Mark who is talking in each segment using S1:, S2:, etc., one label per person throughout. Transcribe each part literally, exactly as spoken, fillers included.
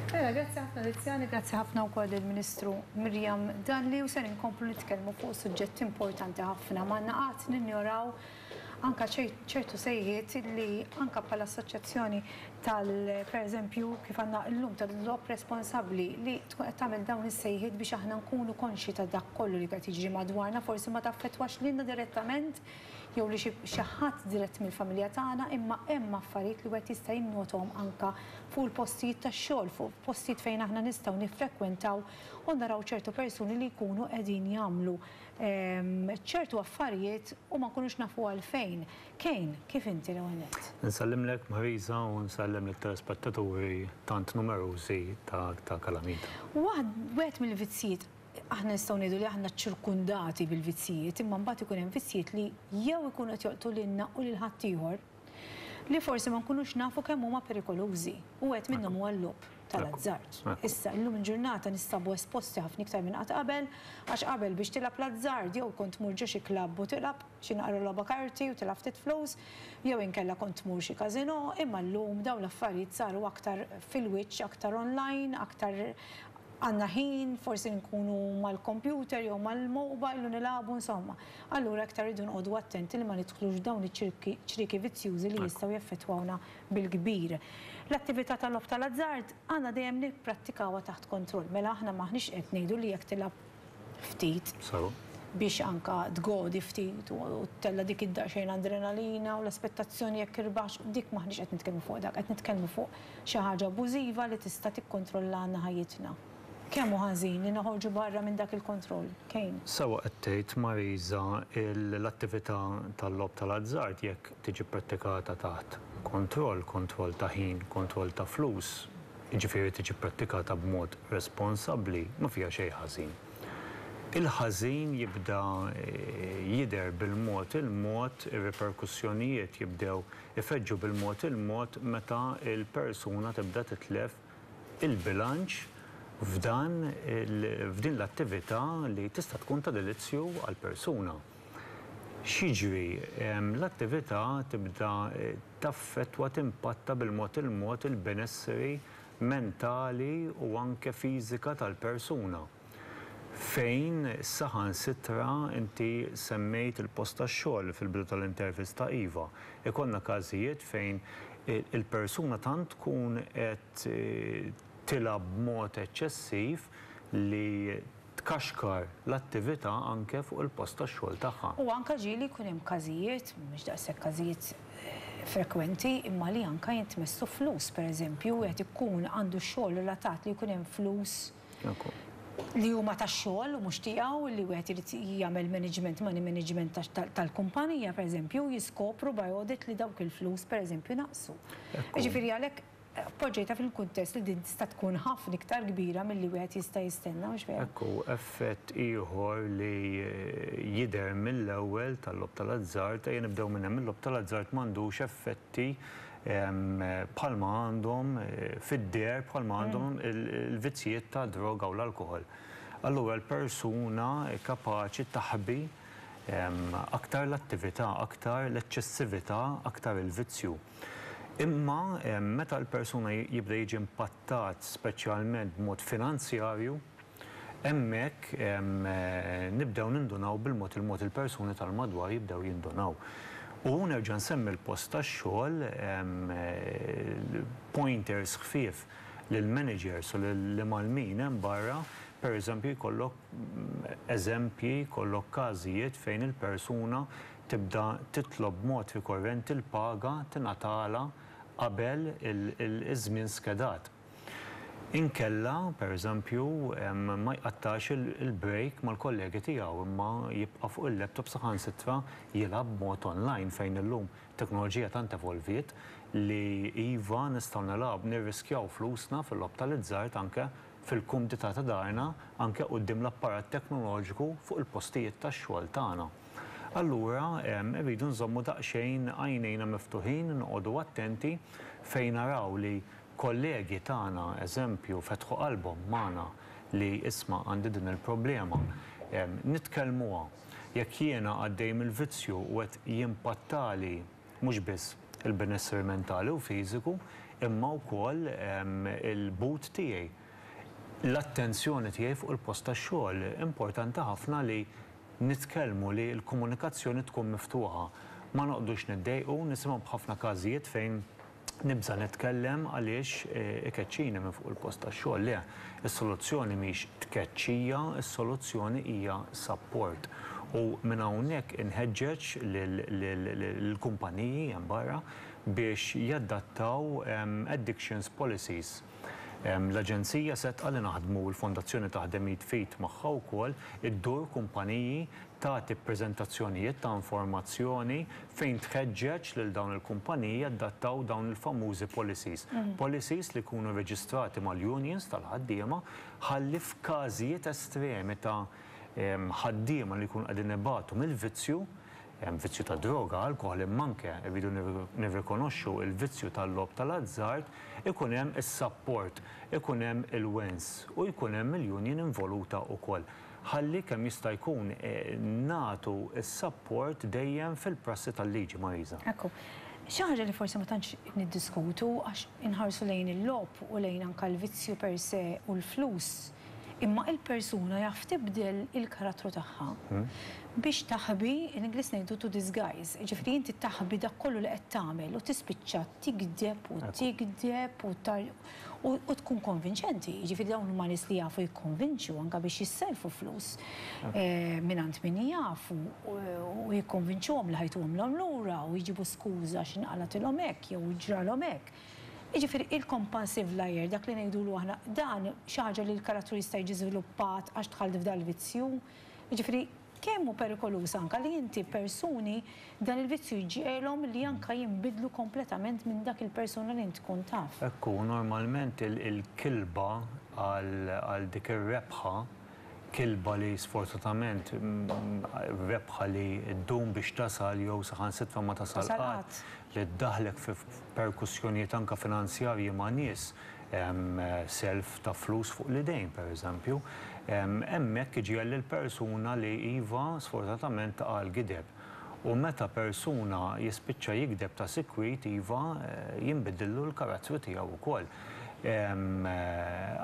S1: Mela, grazzi ħafna, Tiziana, grazzi ħafna wkoll il-Ministru Miriam Dalli, u ser inkomplu nitkellmu fuq suġġett importanti ħafna. Ma naqat ninjoraw anka ċertu sejħiet li anka bħala assoċjazzjoni tal, per eżempju, kif għandna llum tal-logħob responsabbli, li tkun qed tagħmel dawn is-sejħiet biex aħna nkunu konxi ta' dak kollu li qed jiġri madwarna. Forsi ma taffettwax lilna direttament jew li xi ħadd dirett mill-familja tagħna, imma hemm affarijiet li wieħed jista' jinnotom anka fuq il-postijiet tax-xogħol, fuq postijiet fejn aħna nistgħu niffrekwentaw u naraw ċertu persuni li jkunu qegħdin jagħmlu ehm, ċertu affarijiet u ma nkunux nafu għalfejn. Kejn, kif inti l-ewwel?
S2: Nsellimlek, Marisa, u nsellem lit-telespettaturi tant numerużi ta' ta' Kalamita.
S1: Wieħed mill-vizzijiet, aħna nistgħu ngħidu li aħna ċirkundati bil-vizzijiet, imma mbagħad ikun hemm vizzijiet li jew ikunu qed joqtlu lilna u lil ħaddieħor li forsi ma nkunux nafu kemm huma perikolużi. U wieħed minnhom huwa l-logħob tal-azzard. Issa, illum il-ġurnata nistabu esposti ħafna iktar minn qatt qabel, għax qabel biex tilgħab l-azzard jew kont tmur ġo xi klabb u tilgħab xi naqra logħba karti u tilgħab ftit flus, jew inkella kont tmur xi każinò, imma llum dawn l-affarijiet saru aktar fil-wiċċ, aktar online, aktar għandna ħin, forsi nkunu mal-computer jew mal-mobile u nilagħbu, insomma. Allura aktar rridu noqogħdu attenti li ma nidħlux dawn iċ-ċrieki vizzjużi li jistgħu jaffettwawna bil-kbir. L-attività tal-logħob tal-azzard għandna dejjem nipprattikawha taħt kontroll. Mela aħna maħniex qed ngħidu li jekk tilgħab ftit biex anka tgodi ftit u tella dik id-daqsxejn adrenalina u l-aspettazzjoni jekk irbaħx, dik maħniex qed nitkellmu fuq dak, qed nitkellmu fuq xi ħaġa abbużiva li tista' tikkontrollana ħajjitna. Kemm hu ħażin li noħorġu barra minn dak il-kontroll? Kejn?
S2: Sewwa qed tgħid, Marisa, l-attività tal-logħob tal-azzard, jekk tiġi prattikata taħt kontroll, kontroll ta' ħin, kontroll ta' flus, jiġifieri tiġi prattikata b'mod responsabbli, ma fiha xejn ħażin. Il-ħażin jibda eh, jidher bil-mod il-mod, ir-reperkussjonijiet jibdew ifeġġu bil-mod il-mod meta il-persuna tibda titlef il-bilanċ f'dan f'din l-attività li tista' tkun ta' delizzju għal persuna. X'jiġri? L-attività tibda eh, taffettwa, timpatta bil-mod il-mod il-benesseri mentali u anke fiżika tal-persuna. Fejn saħansitra inti semmejt il-post tax-xogħol fil-bidu tal-intervista, iva. Ikollna każijiet fejn il-persuna tant tkun qed eh, tilgħab b'mod eċċessiv li tkaxkar l-attività anke fuq il-post tax-xogħol tagħha.
S1: U anka ġieli jkun hemm każijiet, mhux daqshekk każijiet eh, frekwenti, imma li anka jintmessu flus, pereżempju, qed ikun għandu xogħol relatat li jkun hemm flus li huma tax-xogħol u mhux tiegħu, li wieħed irid jagħmel management, money management tal-kumpanija, pereżempju, jiskopru by audit li dawk il-flus, pereżempju, naqsu. Ġifieri għalhekk poġġejta fil-kuntest li din tista' tkun ħafna iktar kbira milli wieħed jista' jistenna, mhux vera?
S2: Ekku, effett ieħor li jidher mill-ewwel tal-logħob tal-azzard, ejja nibdew minn hemm, il-logħob tal-azzard m'għandux effetti bħalma għandhom eh, fid-der bħalma għandhom mm. il-vizzijiet ta' droga u l-alkohol. Allura l-persuna kapaċi taħbi aktar l-attività, aktar l-eċċessività, aktar il-vizzju. Imma meta l-persuna jibda jiġi impattat, speċjalment b'mod finanzjarju, hemmhekk nibdew nindunaw bil-mod il-mod, il-persuni tal-madwar jibdew jindunaw. U nerġa' nsemmi l-post tax-xogħol, pointers ħfief lill-managers u lill-imgħallmin hemm barra, per eżempju, jkollok eżempji, jkollok każijiet fejn il-persuna tibda titlob mod rikorrenti l-paga tingħatala qabel iż-żmien skedat. Inkella, per eżempju, ma jqattax il-break mal-kollegi tiegħu, imma jibqa' fuq il-laptop, saħansitra jilgħab mod online, fejn illum teknoloġija tant evolviet li iva, nistgħu nilgħab, nirriskjaw flusna fil-logħob tal-azzard anke fil-kumdità ta' darna, anke quddiem l-apparat teknoloġiku fuq il-postijiet tax-xogħol tagħna. Allura irridu nżommu daqsxejn għajnejna miftuħin, noqogħdu attenti fejn naraw li kollegi tagħna, eżempju, fetħu qalbhom magħna li "Isma', għandi din il-problema." Nitkellmuha. Jekk jiena għaddej mill-vizzju u qed jimpattali mhux biss il-benesseri mentali u fiżiku, imma wkoll il-but tiegħi. L-attenzjoni tiegħi fuq il-post tax-xogħol. Importanti ħafna li nitkellmu, li l-komunikazzjoni tkun miftuħa. Ma noqogħdux niddejqu, nisimgħu b'ħafna każijiet fejn nibża nitkellem għaliex ikeċċini minn fuq il-post tax-xogħol. Le, is-soluzzjoni mhix tkeċċija, is-soluzzjoni hija support. U minn hawnhekk inħeġġeġ lill-kumpaniji hemm barra biex jadattaw addictions policies. L-Aġenzija Sedqa li naħdmu, l-Fondazzjoni taħdem id f'id magħha wkoll, iddur kumpaniji, tagħti prezentazzjonijiet ta' informazzjoni fejn tħeġġeġ lil dawn il-kumpaniji jadattaw dawn il-famużi policies. Policies li jkunu reġistrati mal-unions tal-ħaddiema ħalli f'każijiet estremi ta' ħaddiema li jkunu qegħdin ibatu mill-vizzju, vizzju ta' droga, alkohol, imma anke rridu nirrikonoxxu il-vizzju tal-logħob tal-azzard, ikun hemm is-support, ikun hemm il-wens u jkun hemm il-union involuta wkoll. Ħalli kemm jista' jkun nagħtu is-support dejjem fil-prassi tal-liġi, Marisa.
S1: Ekku. Xi ħaġa li forsi ma tantx niddiskutu għax inħarsu lejn il-logħob u lejn anke l-vizzju per se u l-flus. Imma il-persuna jaf tibdel il-karattru tagħha biex taħbi, in Ingliż ngħidu to disguise, ġifieri inti taħbi dak kollu li qed tagħmel u tispiċċa tigdeb u tigdeb u u tkun konvinċenti. Ġifieri dawn huma nies li jafu jikkonvinċu anke biex jisselfu flus mingħand min jafu u jikkonvinċuhom li ħa jtuhomlhom lura u jġibu skuża x'inqalatilhom hekk jew ġralhom hekk. Jiġifieri il-compulsive liar, dak li ngħidulu aħna, dan xi ħaġa li l-karattru jista' jiġi żviluppat għax dħalt f'dal-vizzju. Jiġifieri kemm hu perikoluż anke li inti persuni dan il-vizzju jġiegħelhom li anke jinbidlu kompletament minn dak il-persuna li inti tkun taf.
S2: Ekku, normalment il-kilba għal dik ir-rebħa, kilba li sfortunatament rebħa li ddum biex tasal jew saħansitra ma tasal qatt, li ddaħlek fi perkussjonijiet anke finanzjarji ma' nies, self ta' flus fuq l-idejn, per eżempju, hemmhekk iġiegħel lill-persuna li iva sfortunatament taqa' l-gideb. U meta persuna jispiċċa jigdeb ta' sikwit, iva jinbidillu l-karattru tiegħu wkoll.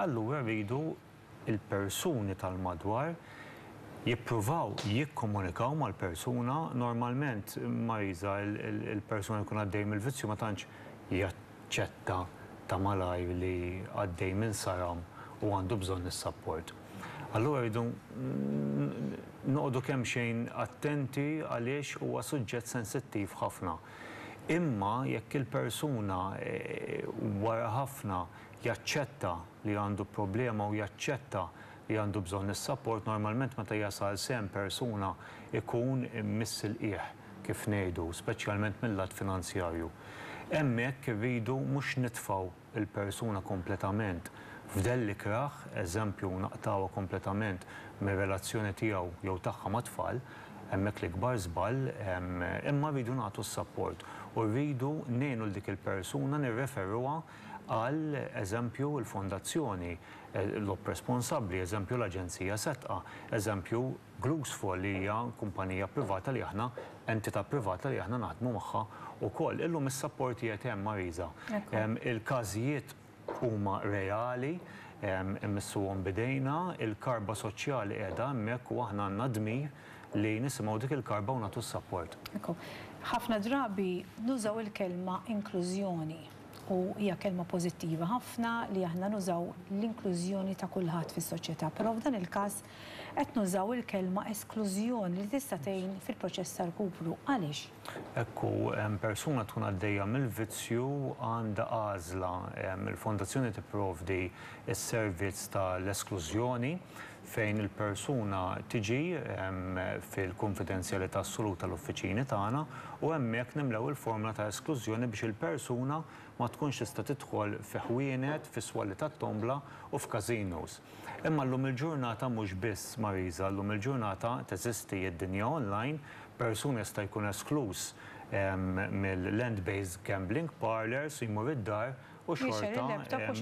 S2: Allura rridu il-persuni tal-madwar jippruvaw jikkomunikaw mal-persuna. Normalment, Marisa, il-persuna jkun għaddej mill-vizzju ma tantx jaċċetta ta' malajr li għaddej minn saram u għandu bżonn is-support. Allura rridu noqogħdu kemm xejn attenti għaliex huwa suġġett sensittiv ħafna. Imma jekk il-persuna wara ħafna jaċċetta li għandu problema u jaċċetta li għandu bżonn is-support, normalment meta jasal sem persuna ikun miss il-qiegħ, kif ngħidu, speċjalment mill-lat finanzjarju. Hemmhekk irridu mhux nitfgħu il-persuna kompletament f'dell ikrah, eżempju naqtawha kompletament mir-relazzjoni tiegħu jew tagħha mat-tfal, hemmhekk l-ikbar żball, imma rridu nagħtu s-support u rridu ngħinu l dik il-persuna nirreferuha għal eżempju l-fondazzjoni, Logħob Responsabbli, eżempju l-Aġenzija Sedqa, eżempju Glusfol li hija kumpanija privata li aħna, entità privata li aħna naħdmu magħha wkoll. Illum is-support qiegħed hemm, Marisa. Il-każijiet huma reali, immissuhom bidejna, il-karba soċjali qiegħda hemmhekk u aħna għandna dmir li nisimgħu dik il-karba u nagħtu s-support.
S1: Ħafna drabi nużaw il-kelma inklużjoni u hija kelma pożittiva ħafna li aħna nużaw l-inklużjoni ta' kulħadd fis-soċjetà, però f'dan il-każ qed nużaw il-kelma esklużjoni li tista' tgħin fil-proċess tal-kupru. Għaliex?
S2: Ekku, persuna tkun għaddejja mill-vizzju għandha għażla. Il-fondazzjoni tipprovdi s-servizz tal-esklużjoni fejn il-persuna tiġi fil-konfidenzjalità assoluta l-uffiċini tagħna u hemmhekk nimlew il-formula ta' esklużjoni biex il-persuna ma tkunx tista' tidħol fi ħwienet, fi swali tat-tombla u f'casinos. Imma llum il-ġurnata mhux biss, Marisa, llum il-ġurnata teżisti id-dinja online, persuna jista' jkun eskluż mill-land-based gambling parlors, jmur id-dar u u xorta
S1: il-laptop u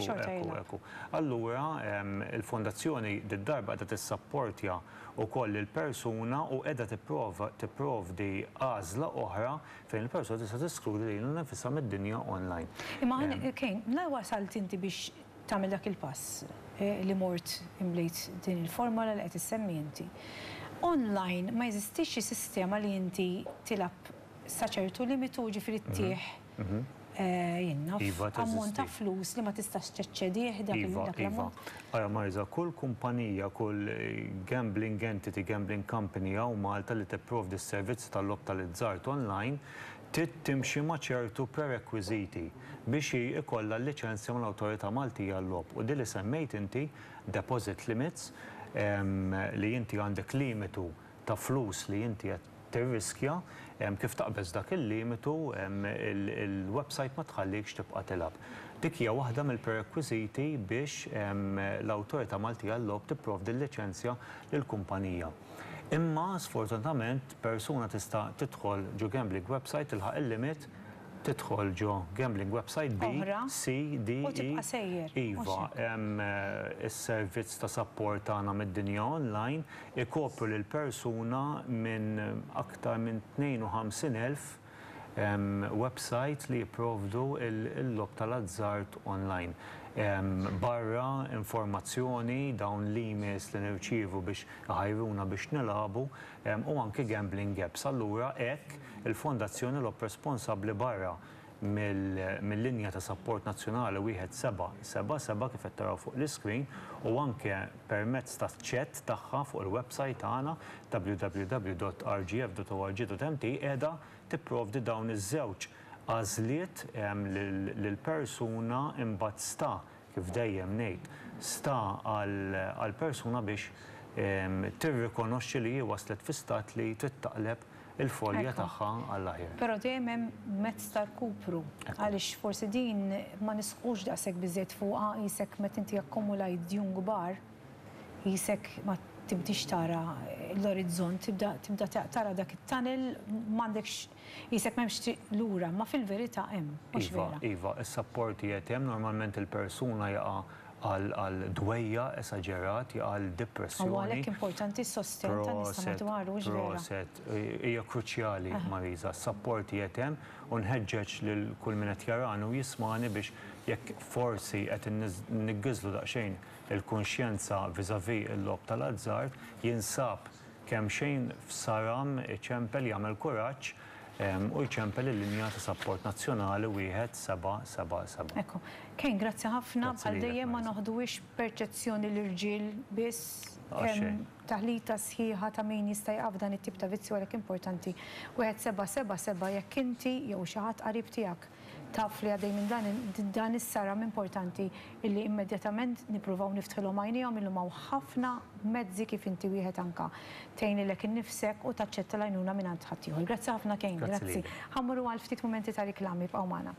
S1: xorta
S2: jilgħab. Allura il-fondazzjoni did-darba qiegħda tissapportja wkoll il-persuna u qiegħda tipprovdi għażla oħra fejn il-persuna tista' teskludi lilha nfisha mid-dinja online.
S1: Imma Kane, la wasalt inti biex tagħmel dak il-pass li mort imlejt din il-formola li qed issemmi inti. Online ma jeżistix xi sistema li inti tilgħab sa ċertu limitu, ġifieri ttih jien naf ammont ta' flus li ma tistax teċċedih dak l-ammont?
S2: Ara Marisa, kull kumpanija, kull gambling entity, gambling company hawn Malta li tipprovdi s-servizzi tal-logħob tal-azzard online trid timxi ma' ċertu prerequisiti biex ikollha l-liċenzja mal-Awtorità Maltija għal-Logħob. U din li semmejt inti, deposit limits, li inti għandek limitu ta' flus li inti qed tirriskja, kif taqbeż dak il-limitu il-website ma tħallikx tibqa' tilgħab. Dik hija waħda mill-prerequisiti biex l-Awtorità Maltija għal-Logħob tipprovdi l-liċenzja lill-kumpanija. Imma sfortunatament persuna tista' tidħol ġo gambling website, tilħaq il-limit, tidħol ġo gambling website B, C, D,
S1: E.
S2: Iva, is-servizz ta' support tagħna mid-dinja online ikopru lil persuna minn aktar minn tnejn u ħamsin elf website li jipprovdu il-logħob tal-azzard online. Barra informazzjoni, dawn l-emails li nirċievu biex ħajruna biex nilagħbu u anke gambling apps. Allura hekk il-Fondazzjoni Logħob Responsabbli barra mill-linja ta' support nazzjonali wieħed seba' seba' seba' kif qed taraw fuq l-iscreen u anke permezz ta' chat tagħha fuq il-website tagħna w w w dot r g f dot org dot m t qiegħda tipprovdi dawn iż-żewġ għażliet lill-persuna imbagħad sta, kif dejjem ngħid, sta għall-persuna biex tirrikonoxxi li hi waslet fi stat li trid taqleb il-folja tagħha għall-aħjar.
S1: Però dejjem hemm mezz ta' rkupru, għaliex forsi din ma nisqux daqshekk biżejjed fuqha, qisek meta inti akkumulajt djun kbar, qisek ma tibdix tara l-orizzont, tibda tibda tara dak it-tunnel, m'għandekx qisek m'hemmx triq lura, ma fil-verità hemm, mhux
S2: Iva,
S1: vera.
S2: Iva, is-support qiegħed hemm, normalment il-persuna jaqa' għal dwejja esaġerat, jaqa' għal depressjoni.
S1: U għalhekk importanti s-sostenn tan-nies ta' madwaru, mhux vera.
S2: Proset, hija kruċjali, Marisa, s-support qiegħed hemm u nħeġġeġ lil kull min qed jarani u jismani biex jekk forsi qed niggiżlu daqsxejn il-kunxjenza vis-à-vis il-logħob tal-azzard, jinsab kemm xejn f'saram iċempel jagħmel kuraġġ u jċempel il-linja ta' support nazzjonali wieħed seba' seba' seba'.
S1: Ekku. Kane, grazzi ħafna.
S2: Grazzi
S1: Bħal
S2: lilek,
S1: dejjem ma
S2: Marisa.
S1: noħduwix perċezzjoni l-irġiel biss,
S2: Għax
S1: hemm
S2: xejn.
S1: taħlita sħiħa ta' min jista' jaqaf dan it-tip ta' vizzju, għalhekk importanti. Wieħed seba' seba' seba' jekk inti jew xi ħadd qarib tiegħek taf li għaddej minn dan, dan is-saram, importanti illi immedjatament nippruvaw niftħilhom għajnejhom illum hawn ħafna mezzi kif inti wieħed anka tgħin lilek innifsek u taċċetta l-għajnuna minn għand ħaddieħor. Grazzi ħafna Kane,
S2: Grazzi
S1: grazzi.
S2: lilek.
S1: Ħa mmorru għal ftit mumenti ta' riklami, bqgħu magħna.